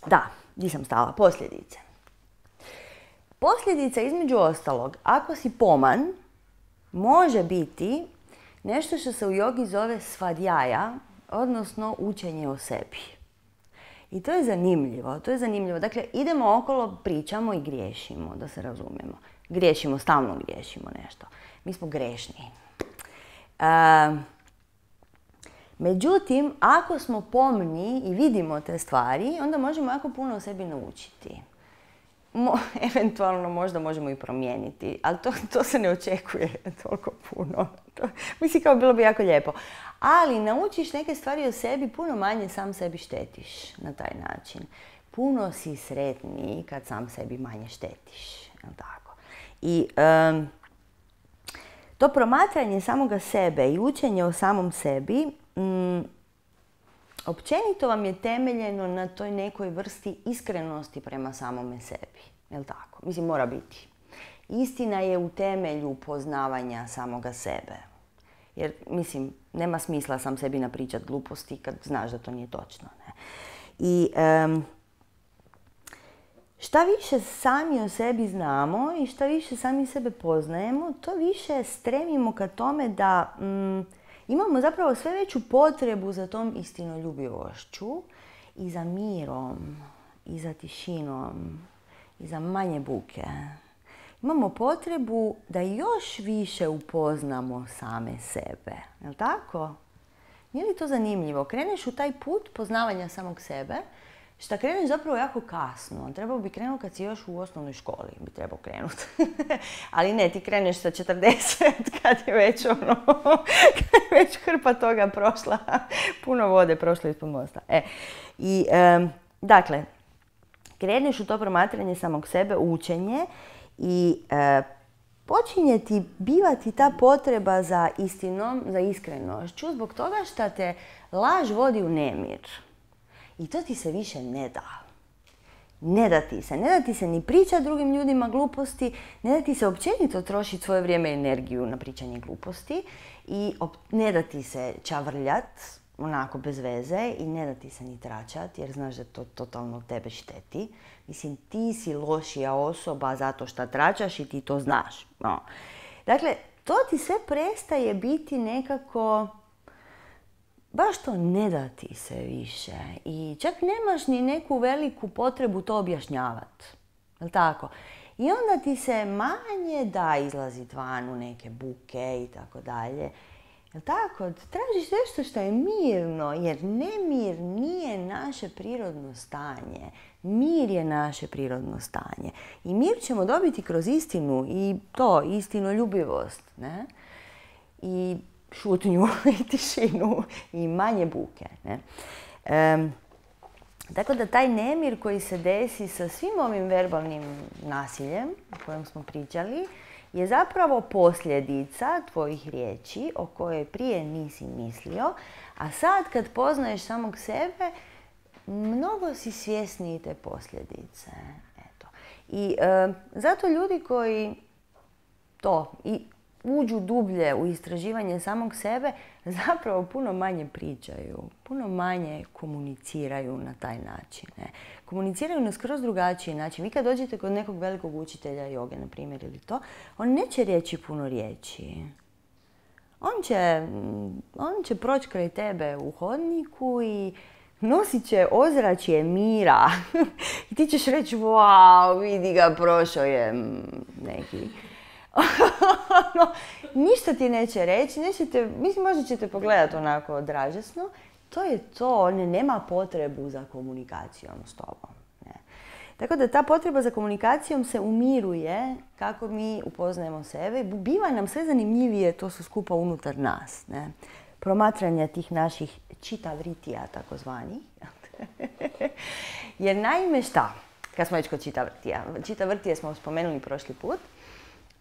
Da, di sam stala? Posljedice. Posljedica, između ostalog, ako si poman, može biti nešto što se u jogi zove svadjaja, odnosno učenje o sebi. I to je zanimljivo, Dakle, idemo okolo, pričamo i griješimo, da se razumijemo. Griješimo, stalno griješimo nešto. Mi smo grešni. Međutim, ako smo pomni i vidimo te stvari, onda možemo jako puno o sebi naučiti. Eventualno možda možemo i promijeniti, ali to se ne očekuje toliko puno. Mislim, kao bilo bi jako lijepo. Ali naučiš neke stvari o sebi, puno manje sam sebi štetiš na taj način. Puno si sretniji kad sam sebi manje štetiš. Tako. I to promatranje samoga sebe i učenje o samom sebi općenito vam je temeljeno na toj nekoj vrsti iskrenosti prema samome sebi. Jel' tako? Mislim, mora biti. Istina je u temelju poznavanja samoga sebe. Jer, mislim, nema smisla sam sebi napričat gluposti kad znaš da to nije točno. Ne? I šta više sami o sebi znamo i šta više sami sebe poznajemo, to više stremimo ka tome da imamo zapravo sve veću potrebu za tom istinoljubivošću i za mirom, i za tišinom, i za manje buke. Imamo potrebu da još više upoznamo same sebe. Jel' tako? Nije li to zanimljivo? Kreneš u taj put poznavanja samog sebe, šta kreneš zapravo jako kasno. Trebao bi krenuti kad si još u osnovnoj školi. Bi trebao krenuti. Ali ne, ti kreneš sa 40 kad je već hrpa toga prošla. Puno vode prošlo ispod mosta. Dakle, kreneš u to promatranje samog sebe, učenje i počinje ti bivati ta potreba za istinom, za iskrenošću, zbog toga što te laž vodi u nemir. I to ti se više ne da. Ne da ti se ni pričati drugim ljudima gluposti, ne da ti se općenito trošiti svoje vrijeme i energiju na pričanje gluposti i ne da ti se čavrljat, onako bez veze, i ne da ti se ni tračat, jer znaš da to totalno tebe šteti. Mislim, ti si lošija osoba zato što tračaš i ti to znaš. No. Dakle, to ti sve prestaje biti nekako, baš to ne da ti se više. I čak nemaš ni neku veliku potrebu to objašnjavati. Jel' tako? I onda ti se manje da izlaziti van u neke buke i tako dalje. Jel' tako? Tražiš nešto što je mirno, jer nemir nije naše prirodno stanje. Mir je naše prirodno stanje. I mir ćemo dobiti kroz istinu i to, istinoljubivost. Ne? I šutnju i tišinu i manje buke. Ne? Tako da taj nemir koji se desi sa svim ovim verbalnim nasiljem o kojem smo pričali je zapravo posljedica tvojih riječi o kojoj prije nisi mislio, a sad kad poznaješ samog sebe, mnogo si svjesniji te posljedice. Eto. I zato ljudi koji uđu dublje u istraživanje samog sebe, zapravo puno manje pričaju, puno manje komuniciraju na taj način. Ne? Komuniciraju na skroz drugačiji način. Vi kad dođete kod nekog velikog učitelja joge, na primjer, ili to, on neće reći puno riječi. On će proći kraj tebe u hodniku i nosit će ozračje mira. I ti ćeš reći, wow, vidi ga, prošao je neki. Ništa ti neće reći, mislim, možda ćete pogledati onako dražesno. To je to, on nema potrebu za komunikacijom s tobom. Ne. Tako da ta potreba za komunikacijom se umiruje kako mi upoznajemo sebe. Biva nam sve zanimljivije to su skupa unutar nas. Ne. Promatranja tih naših čita vritija, takozvani. Jer naime šta? Kad smo već kod čita vrtija. Čita vrtije smo spomenuli prošli put.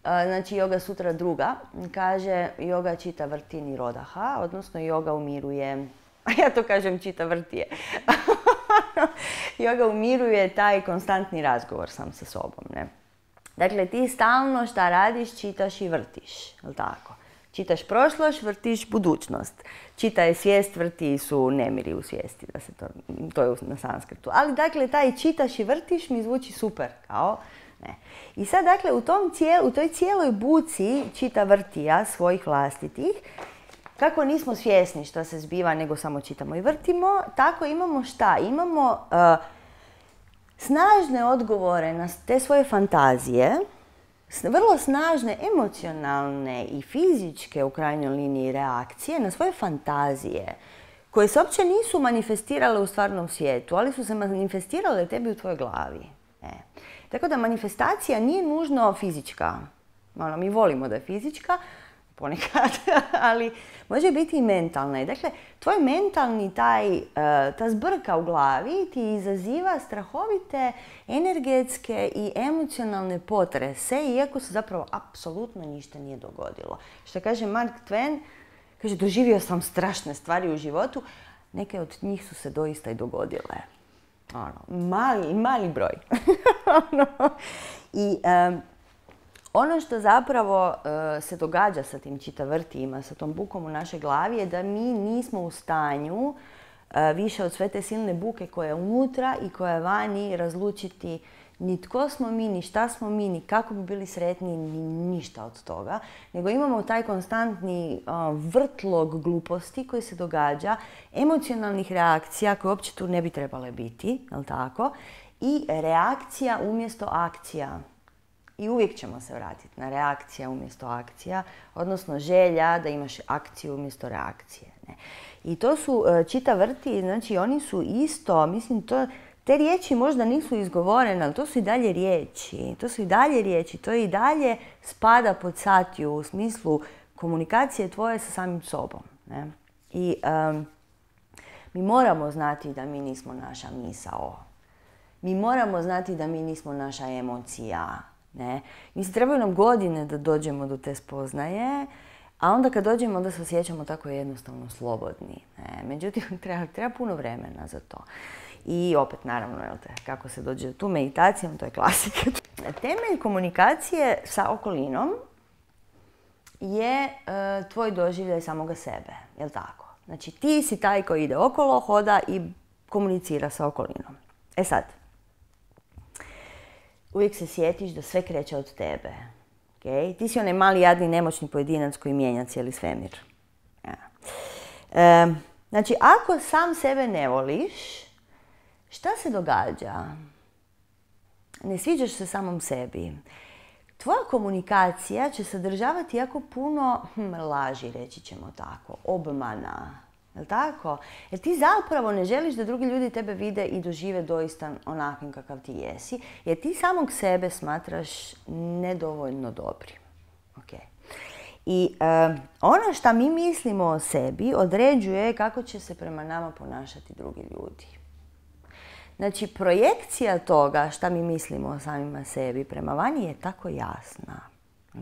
Znači, Yoga Sutra 2. kaže yoga čita vrti nirodaha, odnosno yoga umiruje, a ja to kažem čita vrtije. Yoga umiruje taj konstantni razgovor sam sa sobom. Ne? Dakle, ti stalno šta radiš, čitaš i vrtiš. Jel' tako? Čitaš prošlost, vrtiš budućnost. Čitaje svijest, vrti su nemiri u svijesti, to je na sanskrtu. Ali dakle, taj čitaš i vrtiš mi zvuči super, kao ne. I sad dakle, u toj cijeloj buci čita vrtija svojih vlastitih, kako nismo svjesni što se zbiva, nego samo čitamo i vrtimo, tako imamo šta? Imamo snažne odgovore na te svoje fantazije, vrlo snažne emocionalne i fizičke u krajnjoj liniji reakcije na svoje fantazije, koje se uopće nisu manifestirale u stvarnom svijetu, ali su se manifestirale tebi u tvojoj glavi. Tako da manifestacija nije nužno fizička. Mi volimo da je fizička, ponekad, ali može biti i mentalna. I dakle, tvoj mentalni ta zbrka u glavi ti izaziva strahovite energetske i emocionalne potrese, iako se zapravo apsolutno ništa nije dogodilo. Što kaže Mark Twain, kaže, doživio sam strašne stvari u životu, neke od njih su se doista i dogodile. Mali broj. I ono što zapravo se događa sa tim čitavrtijima, sa tom bukom u našoj glavi je da mi nismo u stanju više od sve te silne buke koja je unutra i koja je vani razlučiti ni tko smo mi, ni šta smo mi, ni kako bi bili sretni, ni ništa od toga. Nego imamo taj konstantni vrtlog gluposti koji se događa, emocionalnih reakcija koje uopće tu ne bi trebale biti, jel tako? I reakcija umjesto akcija. I uvijek ćemo se vratiti na reakcija umjesto akcija, odnosno želja da imaš akciju umjesto reakcije. Ne? I to su čitavrti, znači oni su isto, mislim, te riječi možda nisu izgovorene, ali to su i dalje riječi. To i dalje spada pod satiju u smislu komunikacije tvoje sa samim sobom. Ne? I mi moramo znati da mi nismo naša misao. Mi moramo znati da mi nismo naša emocija. Ne? Mislim, trebaju nam godine da dođemo do te spoznaje, a onda kad dođemo, onda se osjećamo tako jednostavno slobodni. Ne? Međutim, treba puno vremena za to. I opet, naravno, kako se dođe tu meditacijom, to je klasika. Temelj komunikacije sa okolinom je tvoj doživljaj samoga sebe, jel tako? Znači, ti si taj koji ide okolo, hoda i komunicira sa okolinom. E sad, uvijek se sjetiš da sve kreće od tebe. Okay? Ti si onaj mali, jadni, nemoćni pojedinac koji mijenja cijeli svemir. Ja. Znači, ako sam sebe ne voliš, šta se događa? Ne sviđaš se samom sebi. Tvoja komunikacija će sadržavati jako puno laži, reći ćemo tako, obmana. Jel' tako? Jer ti zapravo ne želiš da drugi ljudi tebe vide i dožive doista onakvim kakav ti jesi, jer ti samog sebe smatraš nedovoljno dobrim. Okay. I ono što mi mislimo o sebi određuje kako će se prema nama ponašati drugi ljudi. Znači, projekcija toga šta mi mislimo o samima sebi prema vani je tako jasna.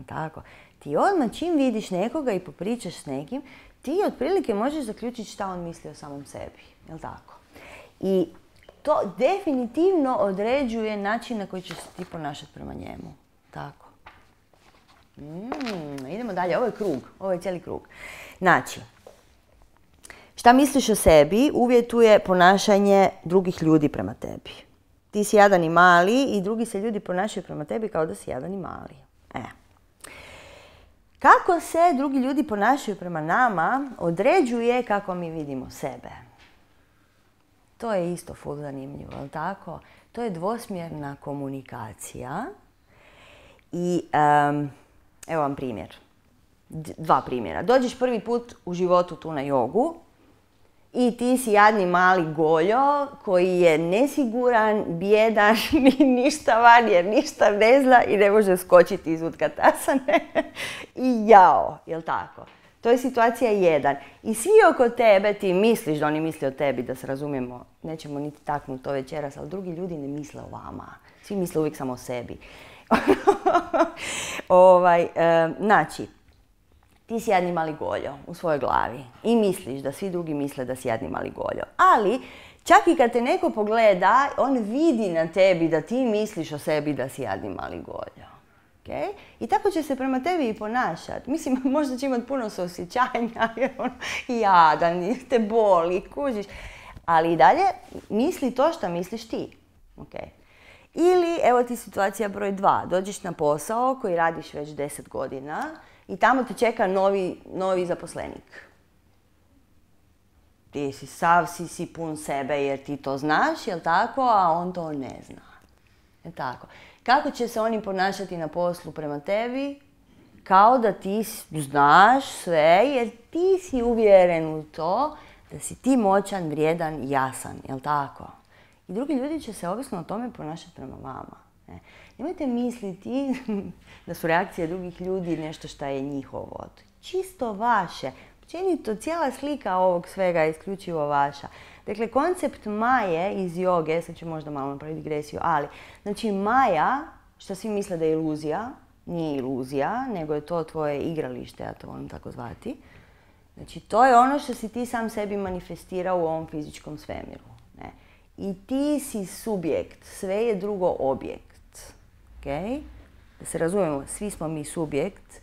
Tako? Ti odmah čim vidiš nekoga i popričaš s nekim, ti otprilike možeš zaključiti šta on misli o samom sebi. Jel' tako? I to definitivno određuje način na koji ćeš se ti ponašati prema njemu. Tako. Idemo dalje. Ovo je krug. Ovo je cijeli krug. Znači, šta misliš o sebi uvjetuje ponašanje drugih ljudi prema tebi. Ti si jadan i mali i drugi se ljudi ponašaju prema tebi kao da si jadan i mali. Kako se drugi ljudi ponašaju prema nama određuje kako mi vidimo sebe. To je isto ful zanimljivo, jel' tako? To je dvosmjerna komunikacija. I evo vam primjer. Dva primjera. Dođeš prvi put u životu tu na jogu i ti si jadni mali goljo koji je nesiguran, bijedan, ništa van jer ništa ne zna i ne može skočiti iz utkatasane. I jao, jel' tako? To je situacija 1. I svi oko tebe, ti misliš da oni misle o tebi, da se razumijemo, nećemo niti taknuti to večeras, ali drugi ljudi ne misle o vama. Svi misle uvijek samo o sebi. Znači, ti si jadni mali goljo u svojoj glavi i misliš da svi drugi misle da si jadni mali goljo. Ali, čak i kad te neko pogleda, on vidi na tebi da ti misliš o sebi da si jadni mali goljo. Okay? I tako će se prema tebi i ponašati. Mislim, možda će imati puno suosjećanja, jer ono, jadan, te boli, kužiš. Ali i dalje misli to što misliš ti. Okay? Ili, evo ti situacija broj 2. Dođeš na posao koji radiš već 10 godina i tamo te čeka novi zaposlenik. Ti si pun sebe jer ti to znaš, jel tako, a on to ne zna. Jel tako? Kako će se oni ponašati na poslu prema tebi? Kao da ti znaš sve jer ti si uvjeren u to da si ti moćan, vrijedan, jasan, jel tako? I drugi ljudi će se ovisno o tome ponašati prema vama. Nemojte misliti da su reakcije drugih ljudi nešto što je njihovo. Čisto vaše. Općenito, cijela slika ovog svega je isključivo vaša. Dakle, koncept maje iz joge, sad ću možda malo napraviti digresiju, ali, znači maja, što svi misle da je iluzija, nije iluzija, nego je to tvoje igralište, ja to volim tako zvati. Znači, to je ono što si ti sam sebi manifestirao u ovom fizičkom svemiru. Ne? I ti si subjekt, sve je drugo objekt. Okay? Da se razumijemo, svi smo mi subjekt,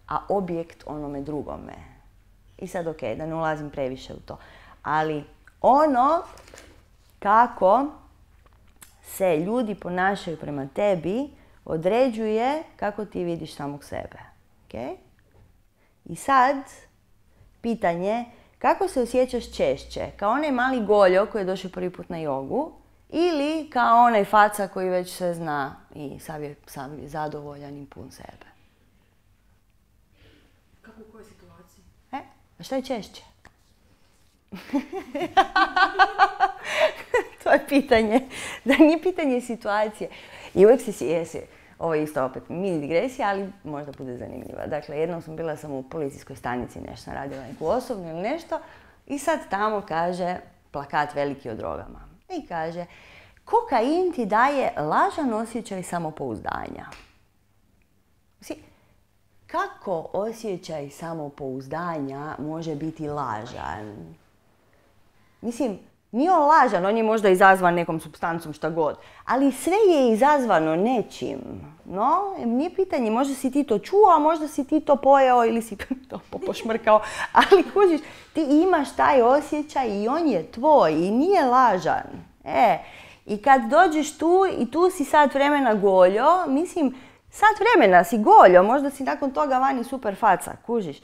a objekt onome drugome. I sad ok, da ne ulazim previše u to. Ali ono kako se ljudi ponašaju prema tebi određuje kako ti vidiš samog sebe. Okay? I sad pitanje, kako se osjećaš češće? Kao onaj mali goljo koji je došao prvi put na jogu ili kao onaj faca koji već sve zna i sam je zadovoljan i pun sebe? Kako u kojoj situaciji? A što je češće? To je pitanje. Da nije pitanje situacije. I uvijek jesi, ovo je isto opet mini digresija, ali možda bude zanimljiva. Dakle, jednom sam bila u policijskoj stanici, nešto sam radila neku osobnu ili nešto, i sad tamo kaže plakat veliki o drogama. I kaže, kokain ti daje lažan osjećaj samopouzdanja. Kako osjećaj samopouzdanja može biti lažan? Mislim, nije on lažan, on je možda izazvan nekom supstancom, šta god. Ali sve je izazvano nečim. No, nije pitanje, možda si ti to čuo, a možda si ti to pojeo ili si to pošmrkao. Ali kužiš, ti imaš taj osjećaj i on je tvoj i nije lažan. I kad dođeš tu i tu si sat vremena goljo, mislim, sat vremena si goljo, možda si nakon toga vani super faca, kužiš.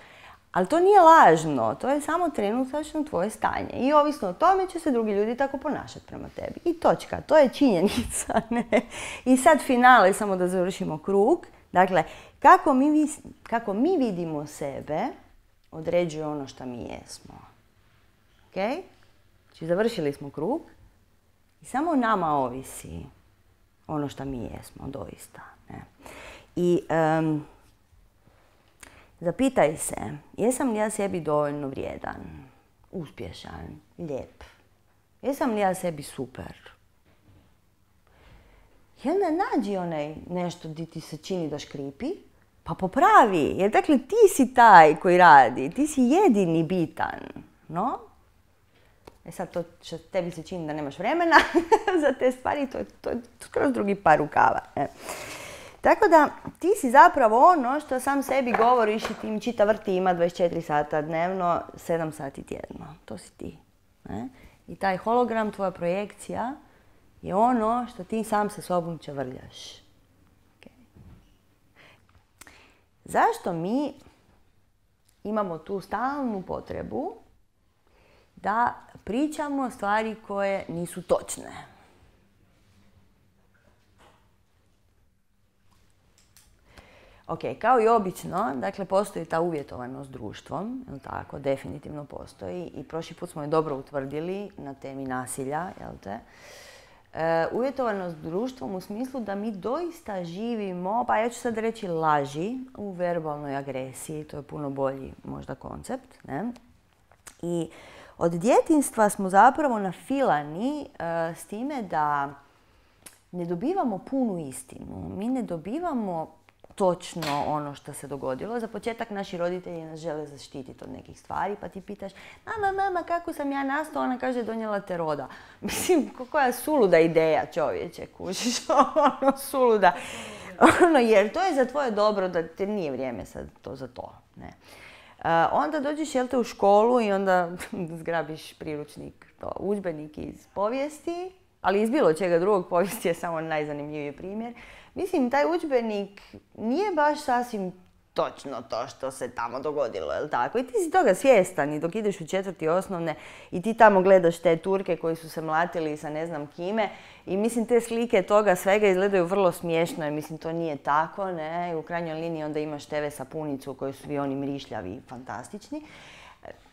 Ali to nije lažno, to je samo trenutačno tvoje stanje. I ovisno o tome će se drugi ljudi tako ponašati prema tebi. I točka, to je činjenica. Ne? I sad finale, samo da završimo krug. Dakle, kako mi vidimo sebe, određuje ono što mi jesmo. Okay? Znači, završili smo krug i samo nama ovisi ono što mi jesmo, doista. Ne? I zapitaj se, jesam li ja sebi dovoljno vrijedan, uspješan, lijep? Jesam li ja sebi super? I onda nađi onaj nešto gdje ti se čini da škripi, pa popravi. Jer dakle ti si taj koji radi, ti si jedini bitan. No? Sad to što tebi se čini da nemaš vremena za te stvari, to je skroz drugi par rukava. Tako da ti si zapravo ono što sam sebi govoriš i ti mi čita vrti ima 24 sata dnevno, 7 sati tjedno. To si ti. I taj hologram, tvoja projekcija, je ono što ti sam sa sobom čavrljaš. Okay. Zašto mi imamo tu stalnu potrebu da pričamo stvari koje nisu točne? Ok, kao i obično, dakle, postoji ta uvjetovanost društvom, jel tako, definitivno postoji i prošli put smo je dobro utvrdili na temi nasilja, jel te? Uvjetovanost društvom u smislu da mi doista živimo, pa ja ću sad reći laži u verbalnoj agresiji, to je puno bolji možda koncept, ne? I od djetinjstva smo zapravo nafilani s time da ne dobivamo punu istinu, mi ne dobivamo točno ono što se dogodilo. Za početak naši roditelji nas žele zaštititi od nekih stvari, pa ti pitaš, mama, kako sam ja nastao? Ona kaže, donijela te roda. Mislim, koja suluda ideja, čovječe, kužiš, ono suluda. Jer to je za tvoje dobro, da te nije vrijeme sad to za to. Ne. Onda dođeš, jel te, u školu i onda zgrabiš priručnik, udžbenik iz povijesti, ali iz bilo čega drugog, povijest je samo najzanimljiviji primjer. Mislim, taj udžbenik nije baš sasvim točno to što se tamo dogodilo, jel tako? I ti si toga svjestan i dok ideš u 4. osnovne i ti tamo gledaš te Turke koji su se mlatili sa ne znam kime i mislim te slike toga svega izgledaju vrlo smiješno jer mislim to nije tako, ne? I u krajnjoj liniji onda imaš TV sapunicu u kojoj su svi oni mrišljavi i fantastični.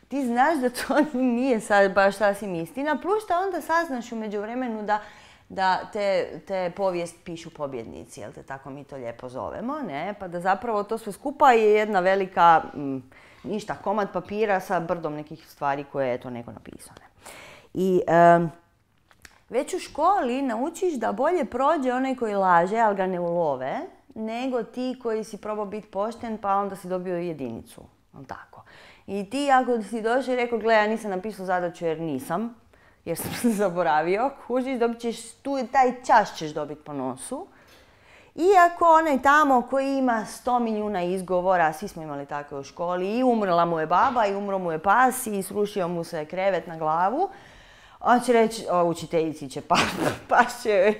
Ti znaš da to nije sad baš sasvim istina, plus da onda saznaš u međuvremenu da te povijest pišu pobjednici, jel te, tako mi to lijepo zovemo, ne? Pa da zapravo to sve skupa je jedna velika, komad papira sa brdom nekih stvari koje je to neko napisao. Ne? I već u školi naučiš da bolje prođe onaj koji laže, ali ga ne ulove, nego ti koji si probao biti pošten pa onda si dobio jedinicu, jel tako? I ti ako si došao i rekao, gle, ja nisam napisao zadaću jer sam se zaboravio, kužiš, dobit ćeš taj čas ćeš dobiti po nosu. Iako onaj tamo koji ima 100 milijuna izgovora, svi smo imali takve u školi, i umrla mu je baba, i umro mu je pas, i srušio mu se krevet na glavu, on će reći, učiteljici će pašće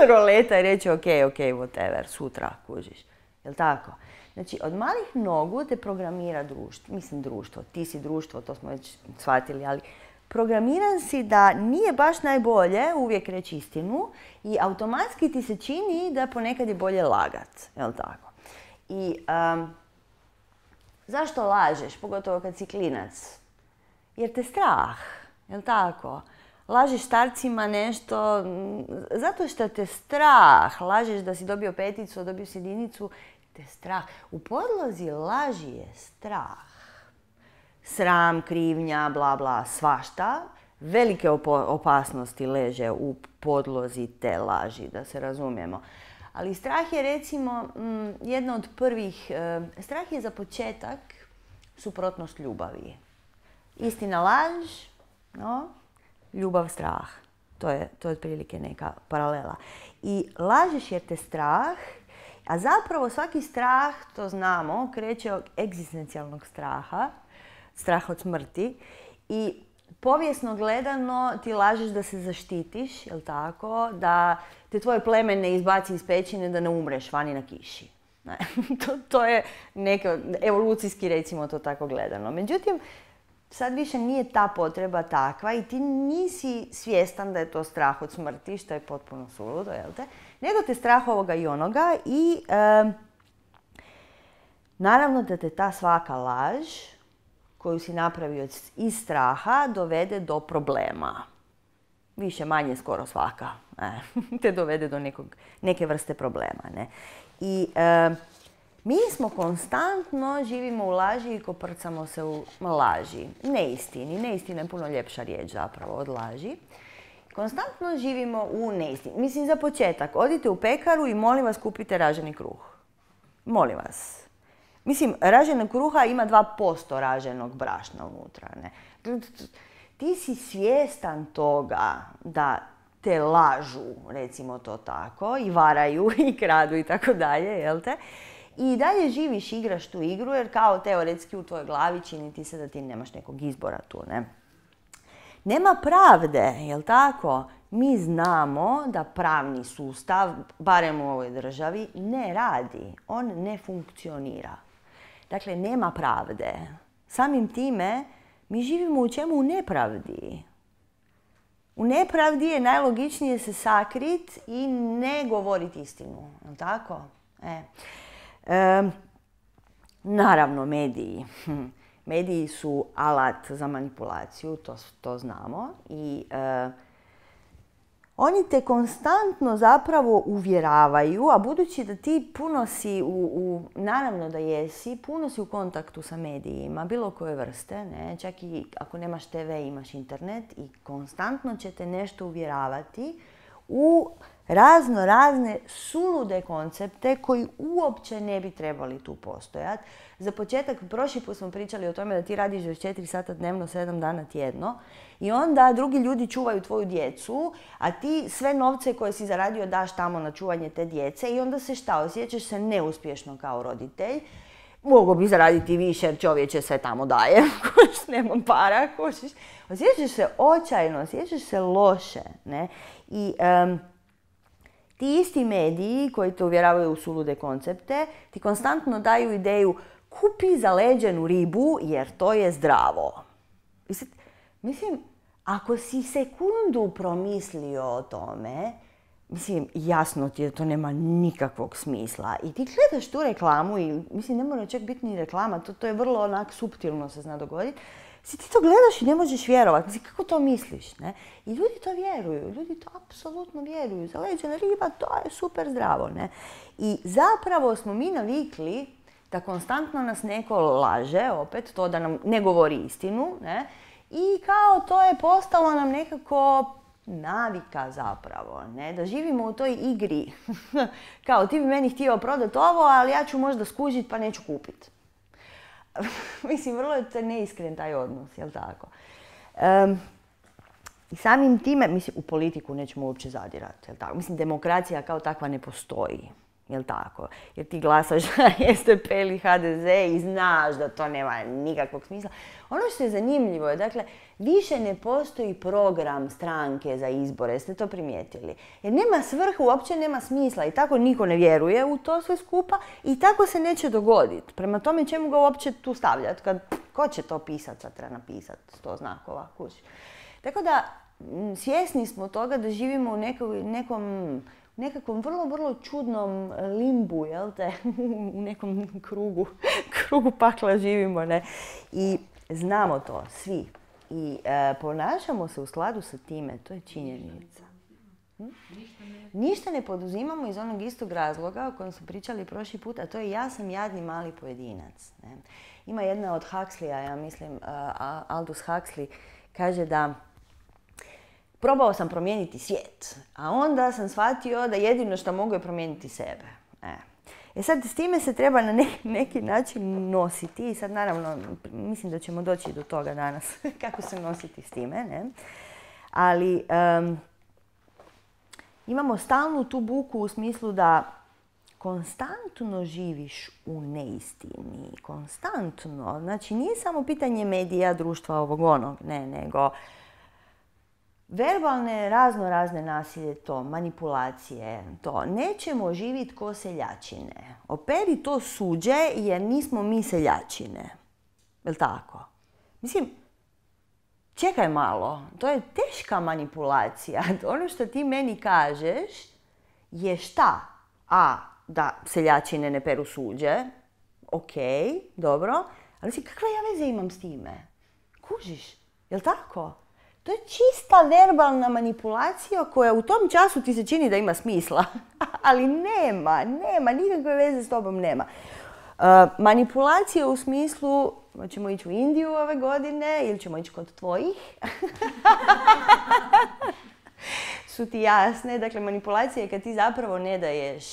roleta i reći, ok, whatever, sutra, kužiš. Jel' tako? Znači, od malih nogu te programira društvo, ti si društvo, to smo već shvatili, ali programiran si da nije baš najbolje uvijek reći istinu i automatski ti se čini da ponekad je bolje lagat, jel' tako? I zašto lažeš, pogotovo kad si klinac? Jer te strah, jel' tako? Lažeš starcima nešto zato što te strah, lažeš da si dobio 5, dobio si 1, te strah. U podlozi laži je strah. Sram, krivnja, bla bla, svašta. Velike opasnosti leže u podlozi te laži, da se razumijemo. Ali strah je recimo jedna od prvih, strah je za početak suprotnost ljubavi. Istina laž, ljubav strah. To je otprilike neka paralela. I lažeš jer te strah, a zapravo svaki strah, to znamo, kreće od egzistencijalnog straha, strah od smrti. I povijesno gledano ti lažeš da se zaštitiš, jel' tako? Da te tvoje pleme ne izbaci iz pećine, da ne umreš vani na kiši. To je neka, evolucijski recimo to tako gledano. Međutim, sad više nije ta potreba takva i ti nisi svjestan da je to strah od smrti, što je potpuno suludo, jel' te? Nego te strah ovoga i onoga i naravno da te ta svaka laž koju si napravio iz straha dovede do problema. Više manje skoro svaka te dovede do neke vrste problema. Ne? I mi smo konstantno živimo u laži i koprcamo se u laži. Neistini. Neistina je puno ljepša riječ zapravo od laži. Konstantno živimo u neistini. Mislim, za početak, odite u pekaru i molim vas kupite raženi kruh. Molim vas. Mislim, raženog kruha ima 2% raženog brašna unutra. Ne? Ti si svjestan toga da te lažu, recimo to tako, i varaju, i kradu i tako dalje, jel' te? I dalje živiš, igraš tu igru, jer kao teoretski u tvojoj glavi čini ti se da ti nemaš nekog izbora tu, ne? Nema pravde, jel' tako? Mi znamo da pravni sustav, barem u ovoj državi, ne radi. On ne funkcionira. Dakle, nema pravde. Samim time, mi živimo u čemu? U nepravdi. U nepravdi je najlogičnije se sakrit i ne govoriti istinu. Jel' tako? Naravno, mediji. Mediji su alat za manipulaciju, to znamo. I oni te konstantno zapravo uvjeravaju, a budući da ti puno si, naravno da jesi, puno si u kontaktu sa medijima, bilo koje vrste, ne? Čak i ako nemaš TV, imaš internet i konstantno će te nešto uvjeravati u razne sulude koncepte koji uopće ne bi trebali tu postojati. Za početak, prošli put smo pričali o tome da ti radiš 24 sata dnevno, 7 dana tjedno i onda drugi ljudi čuvaju tvoju djecu, a ti sve novce koje si zaradio daš tamo na čuvanje te djece i onda se šta, osjećaš se neuspješno kao roditelj. Mogu bi zaraditi više jer čovječe sve tamo daje, kužiš, nemam para, kužiš. Osjećaš se očajno, osjećaš se loše, ne? I ti isti mediji koji te uvjeravaju u sulude koncepte, ti konstantno daju ideju kupi zaleđenu ribu jer to je zdravo. Mislim, ako si sekundu promislio o tome, mislim, jasno ti je da to nema nikakvog smisla. I ti gledaš tu reklamu i, mislim, ne mora čak biti ni reklama, to je vrlo onak suptilno se zna dogoditi. Ti to gledaš i ne možeš vjerovati. Mislim, kako to misliš, ne? I ljudi to vjeruju, ljudi to apsolutno vjeruju. Zaleđena riba, to je super zdravo, ne? I zapravo smo mi navikli da konstantno nas neko laže, opet, to da nam ne govori istinu, ne? I kao to je postalo nam nekako navika zapravo, ne? Da živimo u toj igri. Kao ti bi meni htio prodati ovo, ali ja ću možda skužiti pa neću kupiti. Mislim, vrlo je neiskren taj odnos, jel tako? I samim time, mislim, u politiku nećemo uopće zadirati, jel tako? Mislim, demokracija kao takva ne postoji, jel tako? Jer ti glasaš na SDP ili HDZ i znaš da to nema nikakvog smisla. Ono što je zanimljivo je, dakle, više ne postoji program stranke za izbore, ste to primijetili? Jer nema svrhu, uopće nema smisla i tako niko ne vjeruje u to sve skupa i tako se neće dogoditi. Prema tome čemu ga uopće tu stavljati? Ko će to pisati, sad treba napisati 100 znakova, kući. Tako da svjesni smo toga da živimo u nekakvom vrlo čudnom limbu, jel te? U nekom krugu pakla živimo, ne? I znamo to, svi. I ponašamo se u skladu sa time, to je činjenica. Ništa ne poduzimamo iz onog istog razloga o kojem smo pričali prošli put, a to je ja sam jadni mali pojedinac. Ne? Ima jedna od Huxleya, ja mislim, Aldous Huxley, kaže da probao sam promijeniti svijet, a onda sam shvatio da jedino što mogu je promijeniti sebe. Sad, s time se treba na neki način nositi i sad naravno mislim da ćemo doći do toga danas kako se nositi s time, ne? Ali imamo stalnu tu buku u smislu da konstantno živiš u neistini, konstantno. Znači nije samo pitanje medija, društva, ovog onog, ne, nego verbalne, razne nasilje, to, manipulacije, to. Nećemo živjeti ko seljačine. Operi to suđe jer nismo mi seljačine. Jel' tako? Mislim, čekaj malo, to je teška manipulacija. Ono što ti meni kažeš je šta? A, da seljačine ne peru suđe. Ok, dobro. Ali kakve ja veze imam s time? Kužiš? Jel' tako? To je čista verbalna manipulacija koja u tom času ti se čini da ima smisla. Ali nema, nikakve veze s tobom nema. Manipulacija u smislu, ćemo ići u Indiju ove godine ili ćemo ići kod tvojih, su ti jasne. Dakle, manipulacija je kad ti zapravo ne daješ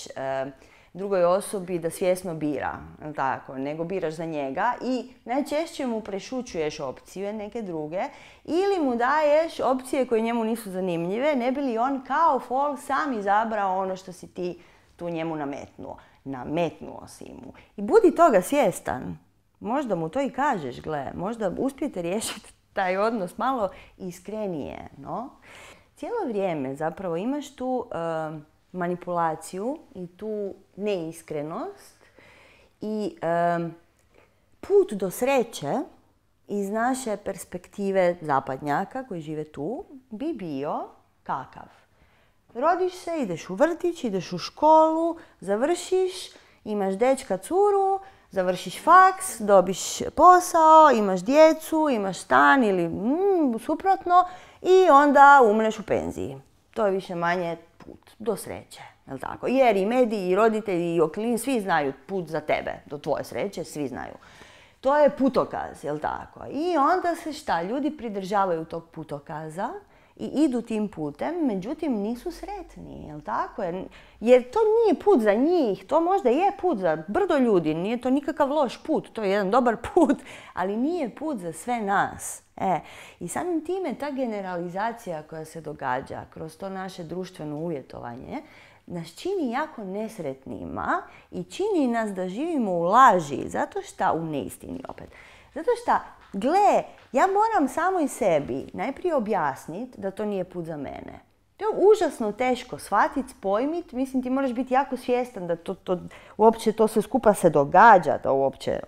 drugoj osobi da svjesno bira, tako, nego biraš za njega i najčešće mu prešućuješ opcije neke druge ili mu daješ opcije koje njemu nisu zanimljive, ne bi li on kao fol sam izabrao ono što si ti tu njemu nametnuo. Nametnuo si mu. I budi toga svjestan. Možda mu to i kažeš, gle, možda uspijete riješiti taj odnos malo iskrenije, no? Cijelo vrijeme zapravo imaš tu manipulaciju i tu neiskrenost i put do sreće iz naše perspektive zapadnjaka koji žive tu bi bio kakav? Rodiš se, ideš u vrtić, ideš u školu, završiš, imaš dečka, curu, završiš faks, dobiš posao, imaš djecu, imaš stan ili suprotno i onda umreš u penziji. To je više manje put do sreće, jel' tako? Jer i mediji, i roditelji, i okolini, svi znaju put za tebe, do tvoje sreće, svi znaju. To je putokaz, jel' tako? I onda se šta? Ljudi pridržavaju tog putokaza i idu tim putem, međutim nisu sretni, jel tako? Jer to nije put za njih, to možda je put za brdo ljudi, nije to nikakav loš put, to je jedan dobar put, ali nije put za sve nas. I samim time ta generalizacija koja se događa kroz to naše društveno uvjetovanje nas čini jako nesretnima i čini nas da živimo u laži, zato što, u neistini opet. Zato što, gle, ja moram samo i sebi najprije objasniti da to nije put za mene. To je užasno teško shvatiti, pojmiti, mislim ti moraš biti jako svjestan da uopće to sve skupa se događa, da uopće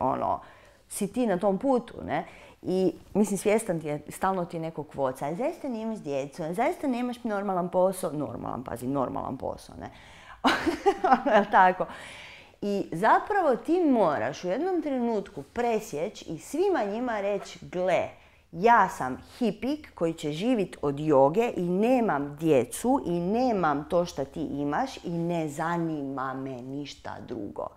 si ti na tom putu, ne? I mislim svjestan ti je, stalno ti je neko kvoca, zaista nemaš djecu, zaista nemaš normalan posao, normalan posao, ne? Tako. I zapravo ti moraš u jednom trenutku presjeći i svima njima reći, gle, ja sam hipik koji će živjeti od joge i nemam djecu i nemam to što ti imaš i ne zanima me ništa drugo.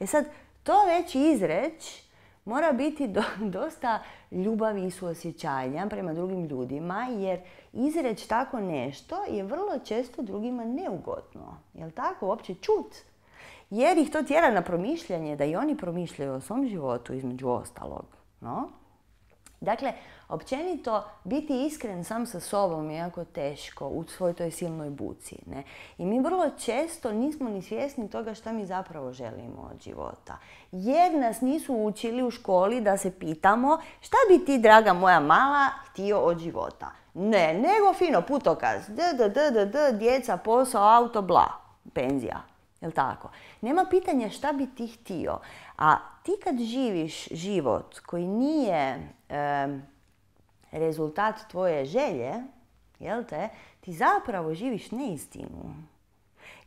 Sad, to već izreć mora biti dosta ljubavi i suosjećanja prema drugim ljudima, jer izreć tako nešto je vrlo često drugima neugodno. Jel tako? Uopće čut. Jer ih to tjera na promišljanje, da i oni promišljaju o svom životu između ostalog. No? Dakle, općenito biti iskren sam sa sobom je jako teško u svoj toj silnoj buci. Ne? I mi vrlo često nismo ni svjesni toga šta mi zapravo želimo od života. Jer nas nisu učili u školi da se pitamo šta bi ti, draga moja mala, htio od života. Ne, nego fino putokaz. Djeca, posao, auto, bla. Penzija. Jel' tako? Nema pitanja šta bi ti htio. A ti kad živiš život koji nije rezultat tvoje želje, jel te, ti zapravo živiš neistinu.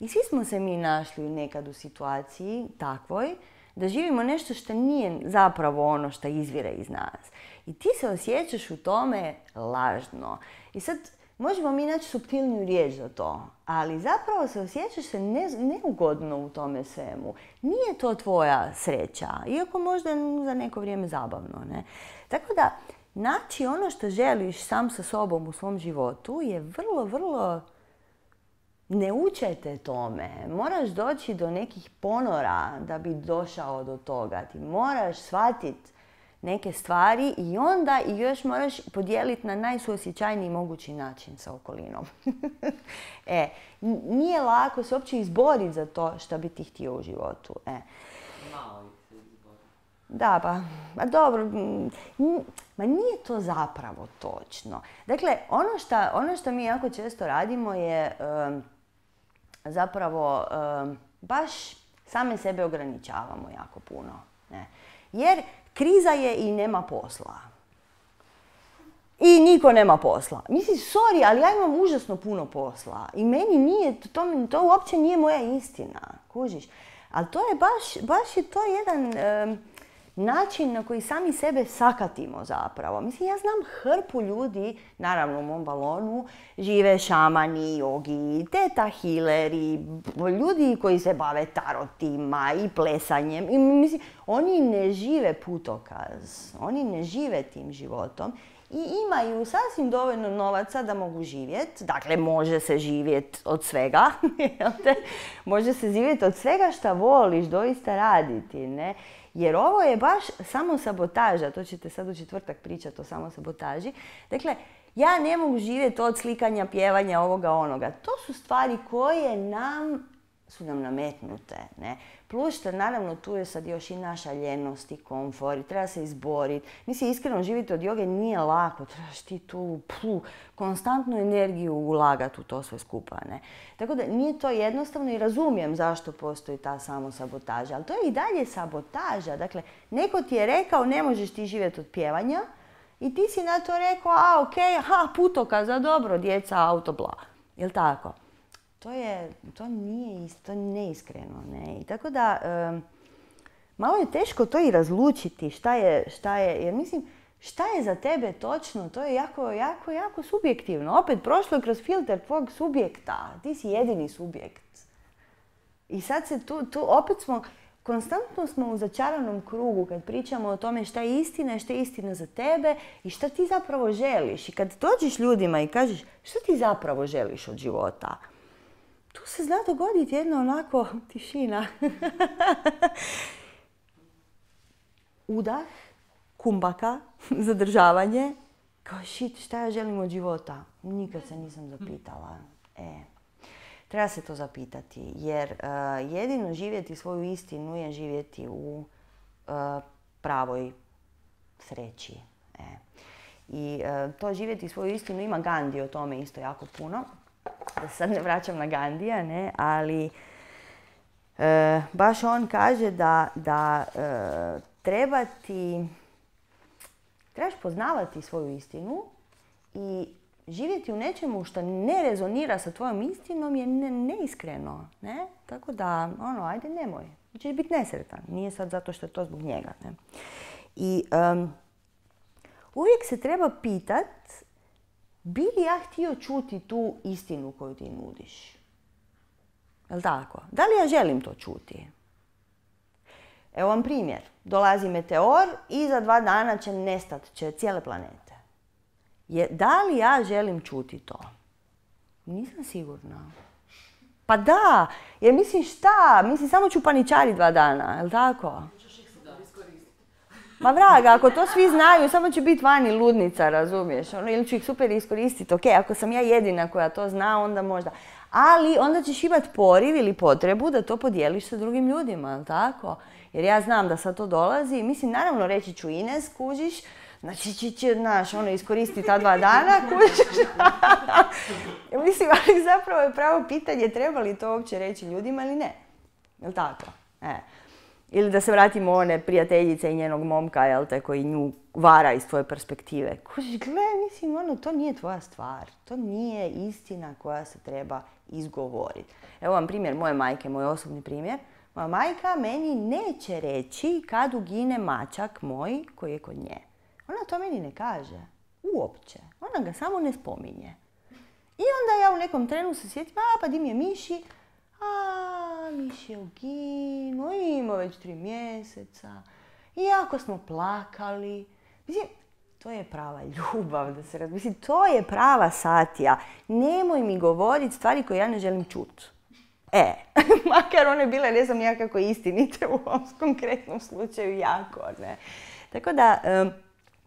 I svi smo se mi našli nekad u situaciji takvoj da živimo nešto što nije zapravo ono što izvire iz nas. I ti se osjećaš u tome lažno. I sad možemo mi naći suptilniju riječ za to, ali zapravo se osjećaš se neugodno u tome svemu. Nije to tvoja sreća, iako možda za neko vrijeme zabavno, ne? Tako da, naći ono što želiš sam sa sobom u svom životu je vrlo, vrlo... Ne učete tome. Moraš doći do nekih ponora da bi došao do toga. Ti moraš shvatiti neke stvari i onda i još moraš podijeliti na najsuosjećajniji mogući način sa okolinom. Nije lako se uopće izboriti za to što bi ti htio u životu. Malo se izboriti. Da, pa dobro, ma nije to zapravo točno. Dakle, ono što mi jako često radimo je zapravo baš same sebe ograničavamo jako puno. Ne? Jer kriza je i nema posla. I niko nema posla. Mislim, sorry, ali ja imam užasno puno posla. I meni nije, to uopće nije moja istina. Kužiš? Ali to je baš je to jedan način na koji sami sebe sakatimo zapravo. Mislim, ja znam hrpu ljudi, naravno u mom balonu, žive šamani, jogi, teta healeri, ljudi koji se bave tarotima i plesanjem. I, mislim, oni ne žive putokaz, oni ne žive tim životom i imaju sasvim dovoljno novaca da mogu živjeti. Dakle, može se živjeti od svega. Može se živjeti od svega šta voliš doista raditi, ne? Jer ovo je baš samosabotaža, to ćete sad u četvrtak pričati o samosabotaži. Dakle, ja ne mogu živjeti od slikanja, pjevanja, ovoga, onoga. To su stvari koje su nam nametnute. Ne? Plus što naravno tu je sad još i naša ljenost i komfor i treba se izboriti. Mislim, iskreno živjeti od joge nije lako. Trebaš ti tu konstantnu energiju ulagati u to sve skupa. Ne? Tako da nije to jednostavno i razumijem zašto postoji ta samosabotaža. Ali to je i dalje sabotaža. Dakle, neko ti je rekao ne možeš ti živjeti od pjevanja i ti si na to rekao putokaza, dobro, djeca, auto, bla. Jel' tako? To nije neiskreno, ne. I tako da, malo je teško to i razlučiti šta je, jer mislim, šta je za tebe točno, to je jako subjektivno. Opet, prošlo je kroz filter tvojeg subjekta, ti si jedini subjekt. I sad se tu opet smo konstantno smo u začaranom krugu kad pričamo o tome šta je istina i šta je istina za tebe i šta ti zapravo želiš. I kad dođeš ljudima i kažeš šta ti zapravo želiš od života, tu se zna dogoditi jedna onako tišina. Udah, kumbaka, zadržavanje. Kao shit, šta ja želim od života? Nikad se nisam zapitala. Treba se to zapitati, jer jedino živjeti svoju istinu je živjeti u pravoj sreći. I to živjeti svoju istinu, ima Gandhi o tome isto jako puno. Da se sad ne vraćam na Gandhija, ne, ali baš on kaže da trebaš poznavati svoju istinu i živjeti u nečemu što ne rezonira sa tvojom istinom je neiskreno, ne? Tako da, ajde nemoj. Ćeš biti nesretan. Nije sad zato što je to zbog njega, ne? I uvijek se treba pitat bi li ja htio čuti tu istinu koju ti nudiš? Jel' tako? Da li ja želim to čuti? Evo vam primjer. Dolazi meteor i za 2 dana će nestat cijele planete. Da li ja želim čuti to? Nisam sigurna. Pa da, jer mislim šta? Mislim samo ću paničariti 2 dana, jel' tako? Ma vraga, ako to svi znaju, samo će biti vani ludnica, razumiješ? Ili ću ih super iskoristiti. Ok, ako sam ja jedina koja to zna, onda možda. Ali onda ćeš imati poriv ili potrebu da to podijeliš sa drugim ljudima, jel' tako? Jer ja znam da sad to dolazi. Mislim, naravno reći ću Ines, kužiš, znači iskoristi ta 2 dana, kužiš. Mislim, ali zapravo je pravo pitanje treba li to uopće reći ljudima ili ne. Jel' tako? Ili da se vratimo one prijateljice i njenog momka, jel' te, koji nju vara iz tvoje perspektive. Kužiš, mislim, to nije tvoja stvar. To nije istina koja se treba izgovoriti. Evo vam primjer moje majke, moj osobni primjer. Moja majka meni neće reći kad ugine mačak moj koji je kod nje. Ona to meni ne kaže. Uopće. Ona ga samo ne spominje. I onda ja u nekom trenu se sjetim, pa di mi je Miši? Miši je uginuo, ima već 3 mjeseca. I jako smo plakali. Mislim, to je prava ljubav, mislim, to je prava satija. Nemoj mi govoriti stvari koje ja ne želim čuti. Makar one bile, ne znam ja kako istinite u ovom konkretnom slučaju jako, ne. Tako da,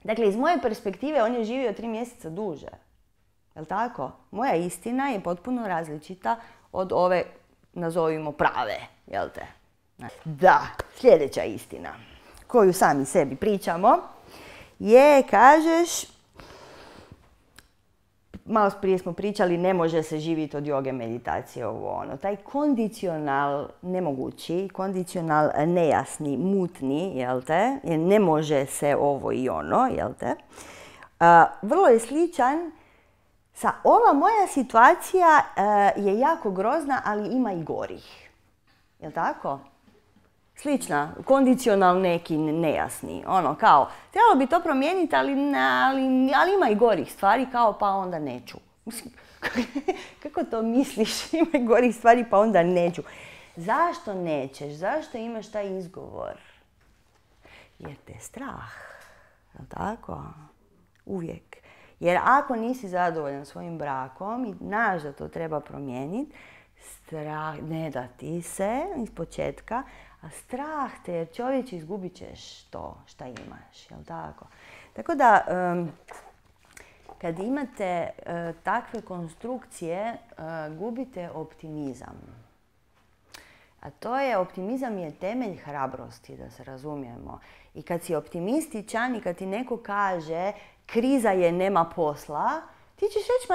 dakle, iz moje perspektive on je živio 3 mjeseca duže. Jel' tako? Moja istina je potpuno različita od ove, nazovimo, prave, jel' te? Da, sljedeća istina koju sami sebi pričamo je, kažeš, malo prije smo pričali, ne može se živjeti od joge, meditacije, taj kondicional nemogući, kondicional nejasni, mutni, jel' te, ne može se ovo i ono, jel' te, vrlo je sličan sa ova moja situacija je jako grozna, ali ima i gorih. Jel' tako? Slična, kondicional neki nejasni, kao, trebalo bi to promijeniti, ali ima i gorih stvari, kao pa onda neću. Kako to misliš, ima i gorih stvari pa onda neću? Zašto nećeš? Zašto imaš taj izgovor? Jer te je strah, jel' tako? Uvijek. Jer ako nisi zadovoljan svojim brakom i znaš da to treba promijeniti, strah ne da ti se iz početka, a strah te, jer čovječe izgubit ćeš to šta imaš, jel' tako? Tako da, kad imate takve konstrukcije, gubite optimizam. A to je, optimizam je temelj hrabrosti, da se razumijemo. I kad si optimističan i kad ti neko kaže kriza je, nema posla, ti ćeš reći,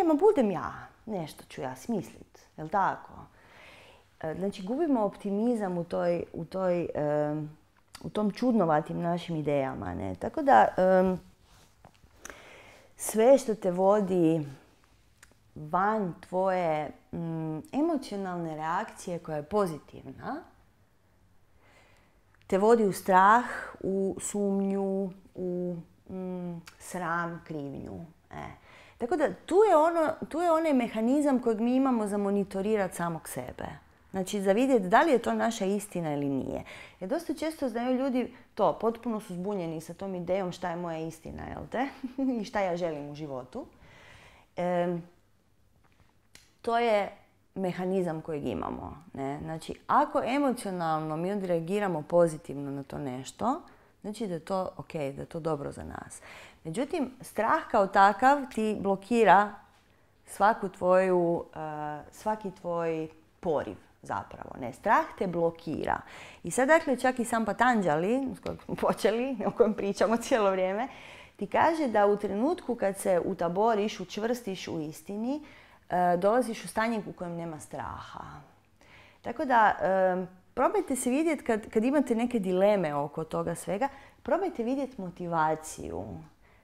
ma budem ja, nešto ću ja smislit, jel' tako? Znači, gubimo optimizam u tom čudnovatim našim idejama, ne? Tako da, sve što te vodi van tvoje emocionalne reakcije koja je pozitivna, te vodi u strah, u sumnju, u sram, krivnju. Tako da tu je onaj mehanizam kojeg mi imamo za monitorirati samog sebe. Znači, za vidjeti da li je to naša istina ili nije. Jer dosta često znaju ljudi to, potpuno su zbunjeni sa tom idejom šta je moja istina, jel te? I šta ja želim u životu. To je mehanizam kojeg imamo. Ne? Znači, ako emocionalno mi odreagiramo pozitivno na to nešto, znači da je to ok, da je to dobro za nas. Međutim, strah kao takav ti blokira svaki tvoj poriv zapravo. Ne, strah te blokira. I sad, dakle, čak i sam Patanjali, s kojeg smo počeli, o kojem pričamo cijelo vrijeme, ti kaže da u trenutku kad se utaboriš, učvrstiš u istini, dolaziš u stanje u kojem nema straha. Tako da, probajte se vidjeti kad imate neke dileme oko toga svega, probajte vidjeti motivaciju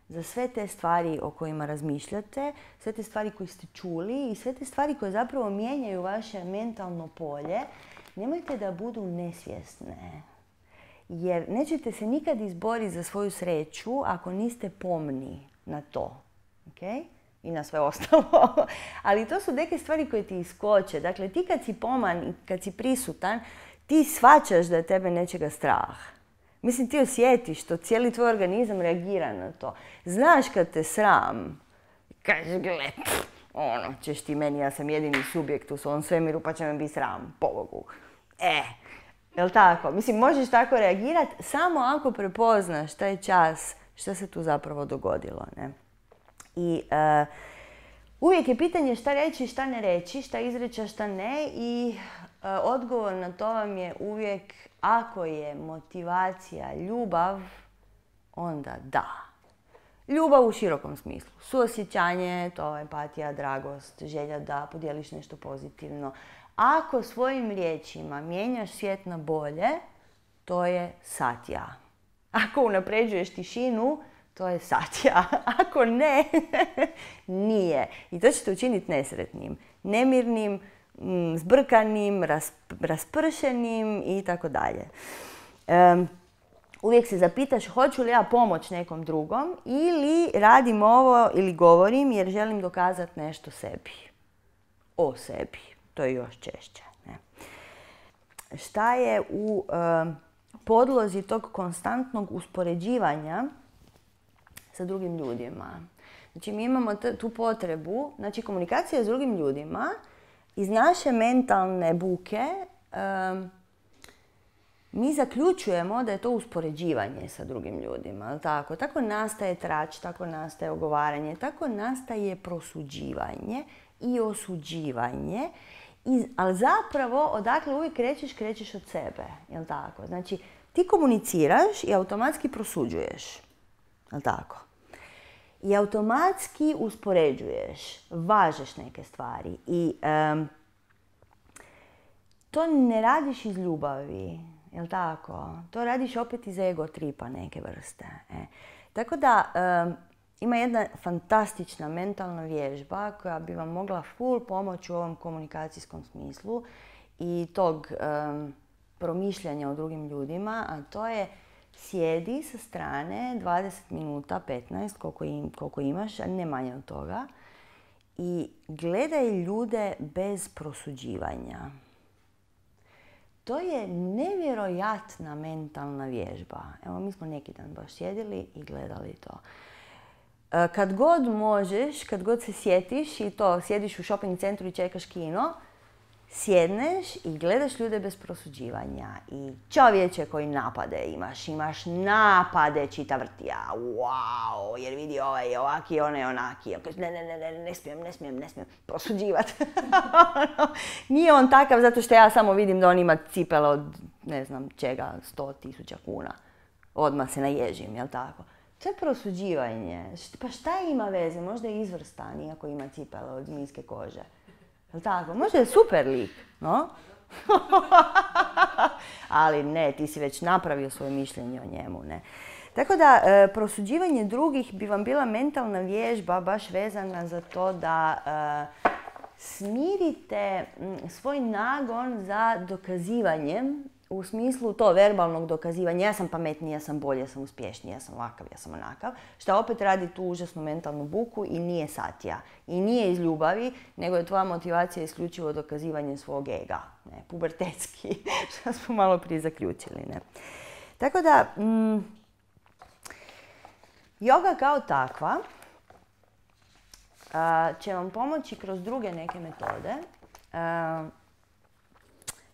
za sve te stvari o kojima razmišljate, sve te stvari koje ste čuli i sve te stvari koje zapravo mijenjaju vaše mentalno polje. Nemojte da budu nesvjesne. Jer nećete se nikad izboriti za svoju sreću ako niste pomni na to. Okay? I na sve ostalo. Ali to su neke stvari koje ti iskoče. Dakle, ti kad si poman i kad si prisutan, ti shvaćaš da je tebe nečega strah. Mislim, ti osjetiš to, cijeli tvoj organizam reagira na to. Znaš kad te sram, kažeš, gle, ćeš ti meni, ja sam jedini subjekt u svom svemiru, pa će me biti sram, pobogu. Jel' tako? Mislim, možeš tako reagirati samo ako prepoznaš taj čas što se tu zapravo dogodilo, ne? I uvijek je pitanje šta reći, šta ne reći, šta izreći, šta ne i odgovor na to vam je uvijek ako je motivacija ljubav, onda da. Ljubav u širokom smislu. Suosjećanje, to je empatija, dragost, želja da podijeliš nešto pozitivno. Ako svojim riječima mijenjaš svijet na bolje, to je satja. Ako unapređuješ tišinu, to je satja. Ako ne, nije. I to ćete učiniti nesretnim, nemirnim, zbrkanim, raspršenim i tako dalje. Uvijek se zapitaš hoću li ja pomoć nekom drugom ili radim ovo ili govorim jer želim dokazati nešto sebi. O sebi. To je još češće. Ne? Šta je u podlozi tog konstantnog uspoređivanja sa drugim ljudima? Znači, mi imamo tu potrebu, znači komunikacija s drugim ljudima iz naše mentalne buke mi zaključujemo da je to uspoređivanje sa drugim ljudima. Tako? Tako nastaje trač, tako nastaje ogovaranje, tako nastaje prosuđivanje i osuđivanje. Ali zapravo, odakle uvijek krećeš od sebe. Jel' tako? Znači, ti komuniciraš i automatski prosuđuješ. Jel' tako? I automatski uspoređuješ, važeš neke stvari. I to ne radiš iz ljubavi. Jel' tako? To radiš opet iz ego tripa neke vrste. Tako da, ima jedna fantastična mentalna vježba koja bi vam mogla full pomoći u ovom komunikacijskom smislu i tog promišljanja o drugim ljudima, a to je sjedi sa strane 20 minuta, 15, koliko imaš, a ne manje od toga, i gledaj ljude bez prosuđivanja. To je nevjerojatna mentalna vježba. Evo, mi smo neki dan baš sjedili i gledali to. Kad god možeš, kad god se sjetiš i to sjediš u shopping centru i čekaš kino, sjedneš i gledaš ljude bez prosuđivanja. I čovječe koji napade imaš napade čita vrtija. Wow, jer vidi ovaj je ovaki, onaj je onaki. Ne smijem prosuđivati. Nije on takav zato što ja samo vidim da on ima cipele od, ne znam čega, 100.000 kuna. Odmah se naježim, jel' tako? To je prosuđivanje. Pa šta ima veze? Možda je izvrstan, iako ima cipele od zmijske kože. Jel' tako? Možda je super lik, no? Ali ne, ti si već napravio svoje mišljenje o njemu, ne? Tako da, prosuđivanje drugih bi vam bila mentalna vježba baš vezana za to da smirite svoj nagon za dokazivanjem u smislu to verbalnog dokazivanja, ja sam pametniji, ja sam bolji, ja sam uspješniji, ja sam ovakav, ja sam onakav, što opet radi tu užasnu mentalnu buku i nije satija. I nije iz ljubavi, nego je tvoja motivacija isključivo dokazivanje svog ega, ne, pubertetski, što smo malo prije zaključili. Ne. Tako da, joga kao takva će vam pomoći kroz druge neke metode.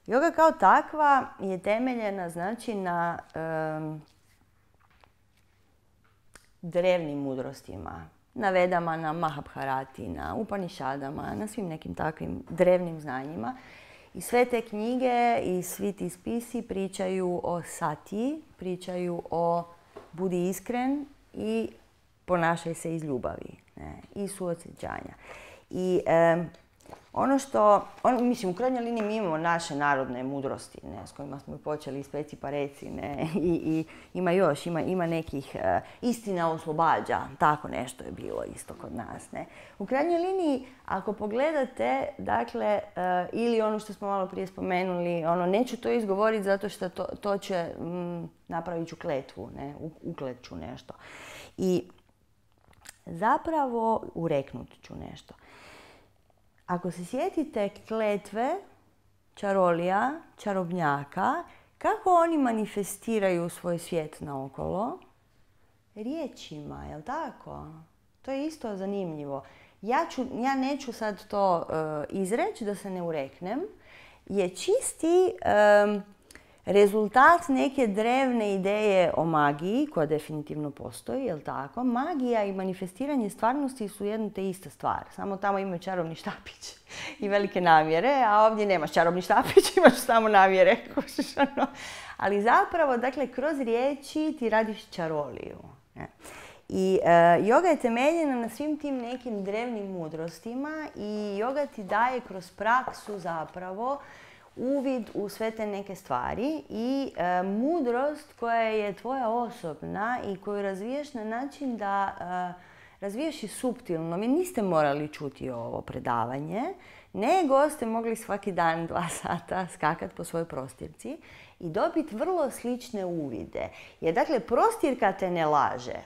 Joga kao takva je temeljena, znači, na drevnim mudrostima, na Vedama, na Mahabharati, na Upanišadama, na svim nekim takvim drevnim znanjima. I sve te knjige i svi ti spisi pričaju o sati, pričaju o budi iskren i ponašaj se iz ljubavi, ne, i suosjećanja. I ono što, mislim, u krajnjoj liniji mi imamo naše narodne mudrosti, ne, s kojima smo počeli speci pa reci, ne, i ima još, ima nekih istina oslobađa, tako nešto je bilo isto kod nas, ne. U krajnjoj liniji, ako pogledate, dakle, ili ono što smo malo prije spomenuli, neću to izgovoriti zato što to će, napravit ću kletvu, ne, uklet ću nešto. I zapravo ureknut ću nešto. Ako se sjetite kletve čarolija, čarobnjaka, kako oni manifestiraju svoj svijet naokolo? Riječima, jel tako? To je isto zanimljivo. Ja neću sad to izreći da se ne ureknem, je čisti rezultat neke drevne ideje o magiji, koja definitivno postoji, jel tako? Magija i manifestiranje stvarnosti su jedno te ista stvar. Samo tamo imaju čarobni štapić i velike namjere, a ovdje nemaš čarobni štapić, imaš samo namjere. Ali zapravo, dakle, kroz riječi ti radiš čaroliju. I joga je temeljena na svim tim nekim drevnim mudrostima i joga ti daje kroz praksu zapravo uvid u sve te neke stvari i mudrost koja je tvoja osobna i koju razvijaš na način da razvijaš i suptilno. Vi niste morali čuti ovo predavanje, nego ste mogli svaki dan 2 sata skakati po svojoj prostirci i dobiti vrlo slične uvide. Jer dakle, prostirka te ne laže.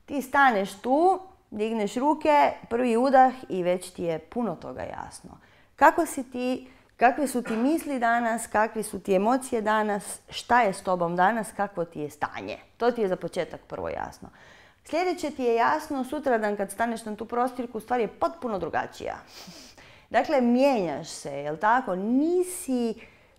Ti staneš tu, digneš ruke, prvi udah i već ti je puno toga jasno. Kako si ti, kakve su ti misli danas, kakve su ti emocije danas, šta je s tobom danas, kakvo ti je stanje. To ti je za početak prvo jasno. Sljedeće ti je jasno, sutradan kad staneš na tu prostirku, stvar je potpuno drugačija. Dakle, mijenjaš se, jel tako?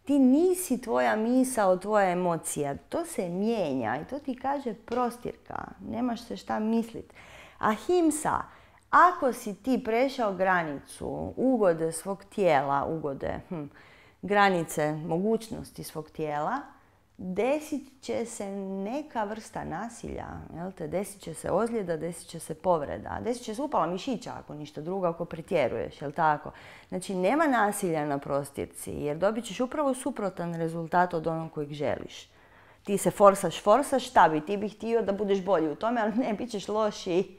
Ti nisi tvoja misao, tvoja emocija. To se mijenja i to ti kaže prostirka. Nemaš se šta misliti. Ahimsa, ako si ti prešao granicu ugode svog tijela, granice mogućnosti svog tijela, desit će se neka vrsta nasilja. Jel te? Desit će se ozljeda, desit će se povreda. Desit će se upala mišića ako ništa drugo, ako pretjeruješ. Jel tako? Znači, nema nasilja na prostirci jer dobit ćeš upravo suprotan rezultat od onog kojeg želiš. Ti se forsaš, šta bi? Ti bi htio da budeš bolji u tome, ali ne, bit ćeš lošiji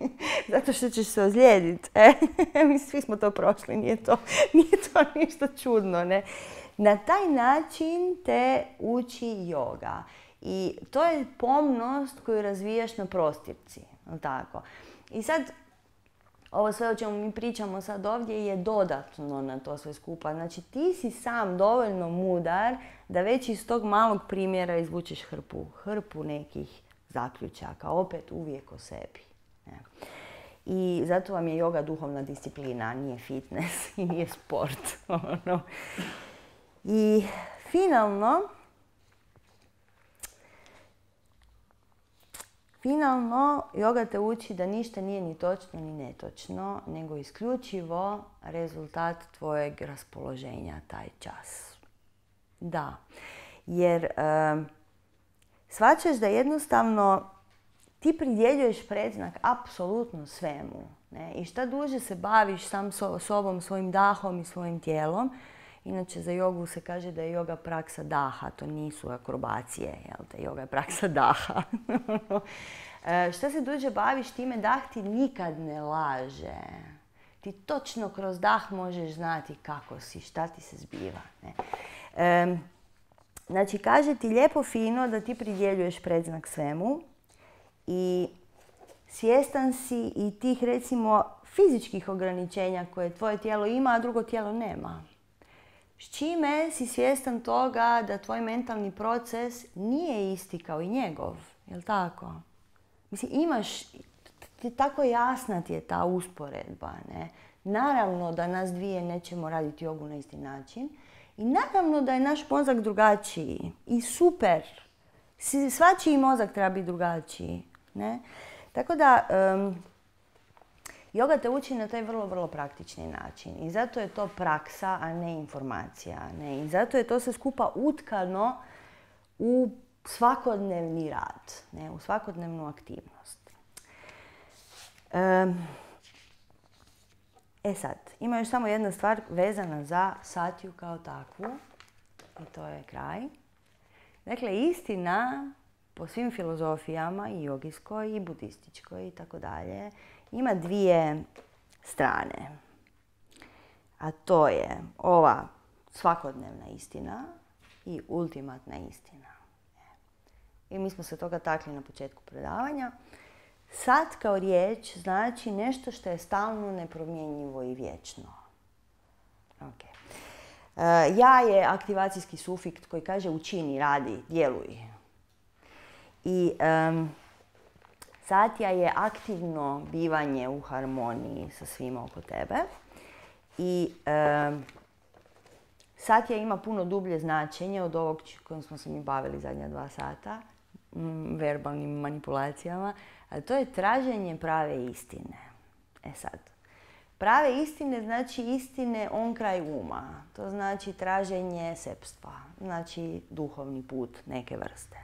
zato što ćeš se ozlijediti. Mi svi smo to prošli, nije to ništa čudno. Ne? Na taj način te uči joga. I to je pomnost koju razvijaš na prostirci. Tako? I sad, ovo sve o čemu mi pričamo sad ovdje je dodatno na to sve skupa. Znači, ti si sam dovoljno mudar da već iz tog malog primjera izvučeš hrpu nekih zaključaka. Opet uvijek o sebi. I zato vam je joga duhovna disciplina, nije fitness i nije sport. I finalno, joga te uči da ništa nije ni točno ni netočno, nego isključivo rezultat tvojeg raspoloženja taj čas. Da, jer shvaćaš da jednostavno ti pridjeljuješ predznak apsolutno svemu. Ne? I šta duže se baviš sam sobom, svojim dahom i svojim tijelom. Inače, za jogu se kaže da je joga praksa daha, to nisu akrobacije, jel te? Joga je praksa daha. Šta se duže baviš time, dah ti nikad ne laže. Ti točno kroz dah možeš znati kako si, šta ti se zbiva. Ne? Znači, kaže ti lijepo fino da ti pridjeljuješ predznak svemu i svjestan si i tih, recimo, fizičkih ograničenja koje tvoje tijelo ima, a drugo tijelo nema. S čime si svjestan toga da tvoj mentalni proces nije isti kao i njegov, jel tako? Mislim, imaš, tako jasna ti je ta usporedba, ne? Naravno da nas dvije nećemo raditi jogu na isti način i naravno da je naš mozak drugačiji i super. Svačiji mozak treba biti drugačiji, ne? Tako da, joga te uči na taj vrlo, vrlo praktični način i zato je to praksa, a ne informacija. Ne? I zato je to sve skupa utkano u svakodnevni rad, ne? U svakodnevnu aktivnost. Sad, ima još samo jedna stvar vezana za satiju kao takvu i to je kraj. Dakle, istina po svim filozofijama, i jogijskoj, i budističkoj i tako dalje, ima dvije strane. A to je ova svakodnevna istina i ultimatna istina. I mi smo se toga takli na početku predavanja. Sat kao riječ znači nešto što je stalno, nepromjenjivo i vječno. Okay. Ja je aktivacijski sufikt koji kaže učini, radi, djeluj. I satja je aktivno bivanje u harmoniji sa svima oko tebe. I satja ima puno dublje značenje od ovog kojim smo se mi bavili zadnja 2 sata, verbalnim manipulacijama, a to je traženje prave istine. Sad, prave istine znači istine on kraj uma. To znači traženje sepstva, znači duhovni put neke vrste.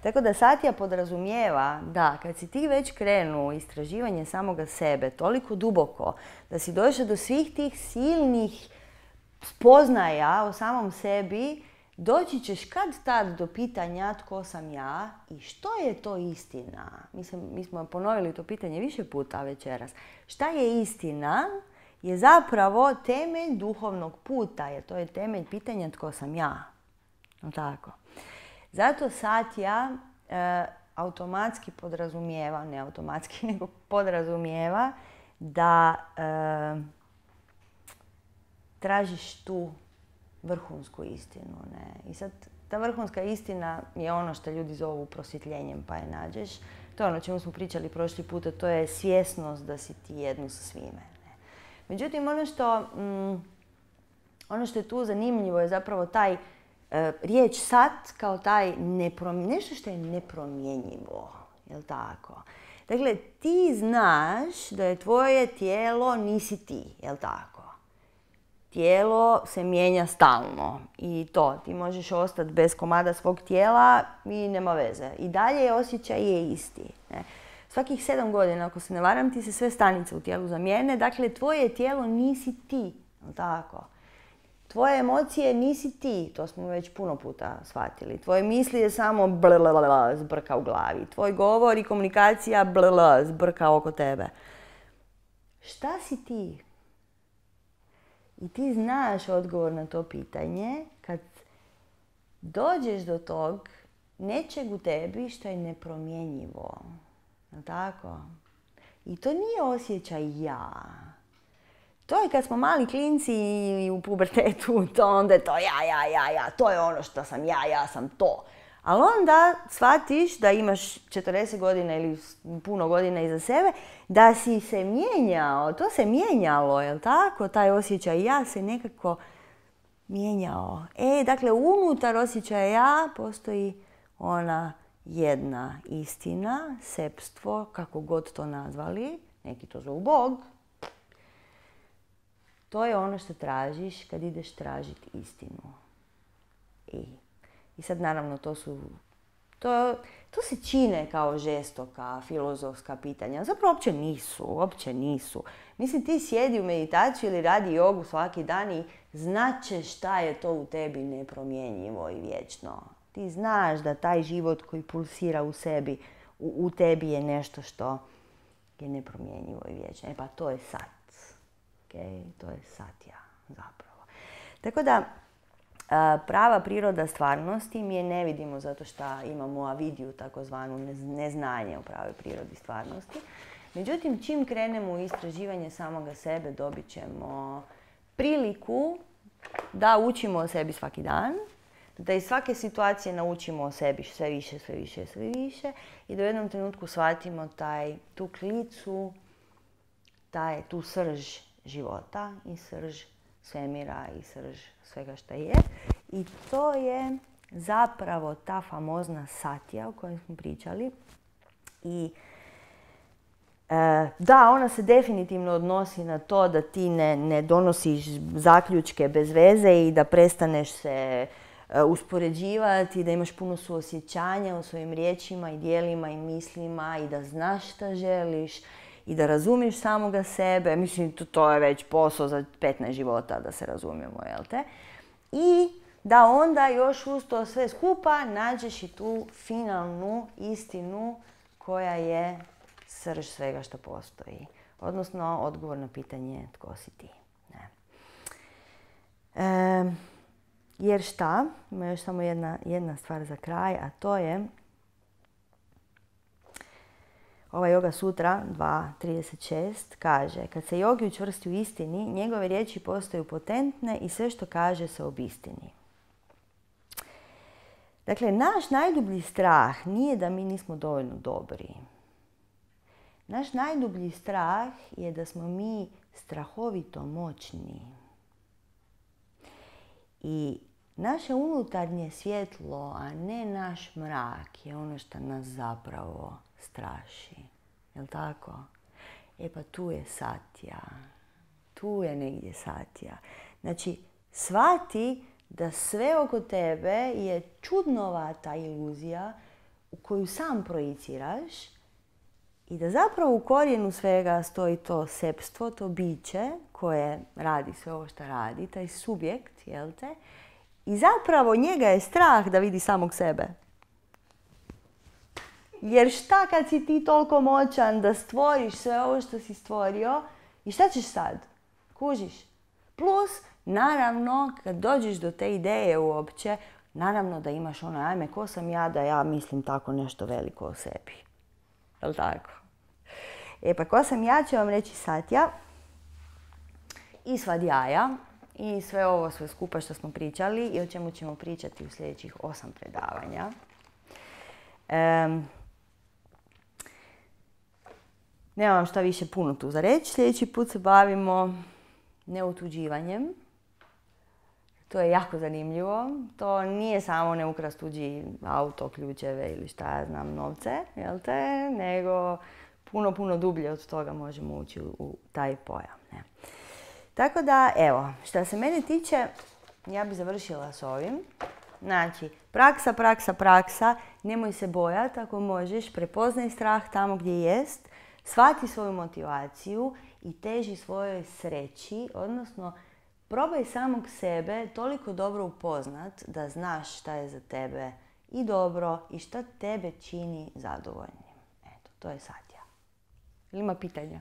Tako da satja podrazumijeva da kad si ti već krenuo u istraživanje samoga sebe toliko duboko, da si došao do svih tih silnih spoznaja o samom sebi, doći ćeš kad tad do pitanja tko sam ja i što je to istina. Mislim, mi smo ponovili to pitanje više puta večeras. Šta je istina je zapravo temelj duhovnog puta, jer to je temelj pitanja tko sam ja. No tako. Zato satja automatski podrazumijeva, ne automatski, nego podrazumijeva da tražiš tu vrhunsku istinu. Ne? I sad, ta vrhunska istina je ono što ljudi zovu prosvjetljenjem, pa je nađeš. To je ono o čemu smo pričali prošli puta, to je svjesnost da si ti jedno sa svime. Ne? Međutim, ono što je tu zanimljivo je zapravo taj riječ sat kao taj nešto što je nepromjenjivo, jel tako? Dakle, ti znaš da je tvoje tijelo nisi ti, jel tako? Tijelo se mijenja stalno i to, ti možeš ostati bez komada svog tijela i nema veze. I dalje osjećaj je isti. Ne? Svakih 7 godina, ako se ne varam, ti se sve stanice u tijelu zamijene, dakle, tvoje tijelo nisi ti, jel tako? Tvoje emocije nisi ti, to smo već puno puta shvatili. Tvoje misli je samo blablabla, zbrka u glavi. Tvoj govor i komunikacija blablabla, zbrka oko tebe. Šta si ti? I ti znaš odgovor na to pitanje kad dođeš do tog nečeg u tebi što je nepromjenjivo. Tako? I to nije osjećaj ja. To je kad smo mali klinci i u pubertetu, to onda je to ja, to je ono što sam ja sam to. Ali onda shvatiš da imaš 40 godina ili puno godina iza sebe, da si se mijenjao, to se mijenjalo, jel tako? Taj osjećaj ja se nekako mijenjao. Dakle, unutar osjećaja ja postoji ona jedna istina, sepstvo, kako god to nazvali, neki to zovu Bog. To je ono što tražiš kad ideš tražiti istinu. I sad naravno to se čine kao žestoka, filozofska pitanja. Zapravo uopće nisu. Mislim, ti sjedi u meditaciju ili radi jogu svaki dan i značeš šta je to u tebi nepromjenjivo i vječno. Ti znaš da taj život koji pulsira u sebi, u tebi je nešto što je nepromjenjivo i vječno. Pa to je sat. Okay? To je satja zapravo. Tako da, Prava priroda stvarnosti mi je ne vidimo zato što imamo avidiju, takozvanu neznanje o pravoj prirodi stvarnosti. Međutim, čim krenemo u istraživanje samoga sebe, dobit ćemo priliku da učimo o sebi svaki dan, da iz svake situacije naučimo o sebi sve više, sve više, sve više i da u jednom trenutku shvatimo tu klicu, tu srž života i srž svemira i srž svega što je. I to je zapravo ta famozna satija o kojoj smo pričali. I da, ona se definitivno odnosi na to da ti ne donosiš zaključke bez veze i da prestaneš se uspoređivati, da imaš puno suosjećanja u svojim riječima i djelima i mislima i da znaš šta želiš i da razumiješ samoga sebe. Mislim, to je već posao za 15 života, da se razumijemo, jel te? I da onda još uz to sve skupa nađeš i tu finalnu istinu koja je srž svega što postoji. Odnosno, odgovor na pitanje tko si ti. Ne. Jer šta? Ima još samo jedna stvar za kraj, a to je ova Yoga Sutra 2.36 kaže: kad se jogi učvrsti u istini, njegove riječi postaju potentne i sve što kaže se obistini. Dakle, naš najdublji strah nije da mi nismo dovoljno dobri. Naš najdublji strah je da smo mi strahovito moćni. I naše unutarnje svjetlo, a ne naš mrak, je ono što nas zapravo straši. Jel' tako? E pa tu je satija. Tu je negdje satija. Znači, shvati da sve oko tebe je čudnovata iluzija u koju sam projiciraš i da zapravo u korijenu svega stoji to sepstvo, to biće koje radi sve ovo što radi, taj subjekt, jel te? I zapravo njega je strah da vidi samog sebe. Jer šta kad si ti toliko moćan da stvoriš sve ovo što si stvorio i šta ćeš sad? Kužiš? Plus, naravno, kad dođeš do te ideje uopće, naravno da imaš ono, ajme, ko sam ja da ja mislim tako nešto veliko o sebi. Jel' tako? E pa ko sam ja će vam reći satja i svadjaja i sve ovo sve skupa što smo pričali i o čemu ćemo pričati u sljedećih 8 predavanja. Nemam šta više puno tu za reći. Sljedeći put se bavimo neotuđivanjem. To je jako zanimljivo. To nije samo ne ukrast tuđi auto, ključeve ili šta ja znam, novce, jel te? Nego puno dublje od toga možemo ući u taj pojam. Ne? Tako da, evo, što se mene tiče, ja bi završila s ovim. Znači, praksa, nemoj se bojati ako možeš, prepoznaj strah tamo gdje jest, shvati svoju motivaciju i teži svojoj sreći, odnosno probaj samog sebe toliko dobro upoznat da znaš šta je za tebe i dobro i šta tebe čini zadovoljnim. Eto, to je satja. Ili ima pitanja?